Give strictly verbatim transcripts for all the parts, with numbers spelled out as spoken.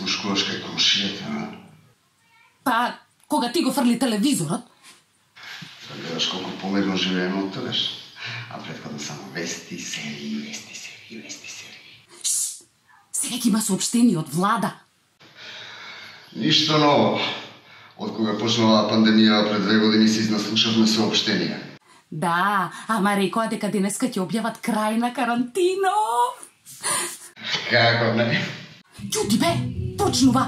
слушкуваш кај комшијата, а? Па, кога ти го фрли телевизорот? Да гледаш колку помирно живееме од тогаш. А претходно само вести, серии, вести, серии, вести, серии. Шш! Сега ќе има соопштение од влада. Ништо ново. Од кога почнала пандемија пред две години се изнаслушавме соопштенија. Да, ама рекоа дека денеска ќе објават крај на карантина. Како не? Ќути бе, почнува.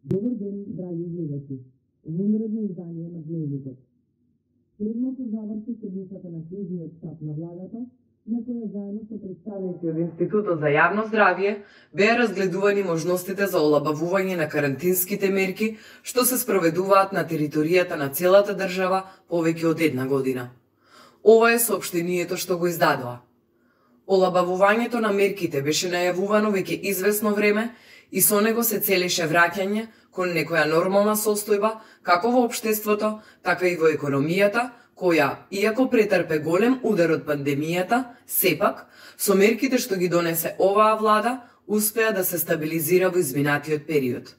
Добар ден, драги гледачи. Во наредно издание на Дневникот. Следното заврши седмицата на кризниот штаб на владата, на која заедно со представници од Институтот за јавно здравје беа разгледувани можностите за олабавување на карантинските мерки што се спроведуваат на територијата на целата држава повеќе од една година. Ова е соопштението што го издадоа. Олабавувањето на мерките беше најавувано веќе известно време и со него се целеше враќање кон некоја нормална состојба како во општеството, така и во економијата, која, иако претрпе голем удар од пандемијата, сепак, со мерките што ги донесе оваа влада, успеа да се стабилизира во изминатиот период.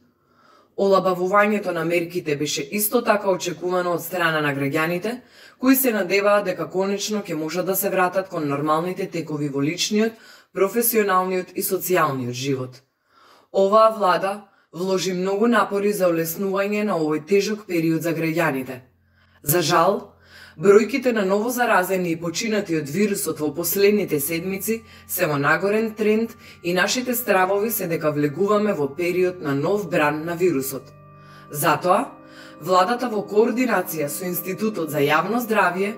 Олабавувањето на мерките беше исто така очекувано од страна на граѓаните, кои се надеваат дека конечно ќе можат да се вратат кон нормалните текови во личниот, професионалниот и социјалниот живот. Оваа влада вложи многу напори за олеснување на овој тежок период за граѓаните. За жал, бројките на новозаразени и починати од вирусот во последните седмици се во нагорен тренд и нашите стравови се дека влегуваме во период на нов бран на вирусот. Затоа, владата во координација со Институтот за јавно здравје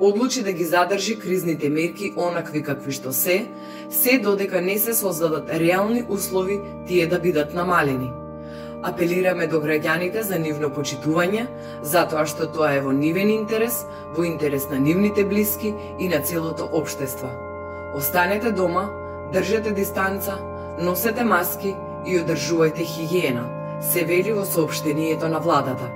одлучи да ги задржи кризните мерки онакви какви што се, се додека не се создадат реални услови тие да бидат намалени. Апелираме до граѓаните за нивно почитување, затоа што тоа е во нивен интерес, во интерес на нивните блиски и на целото општество. Останете дома, држете дистанца, носете маски и одржувајте хигиена, се вели во соопштението на владата.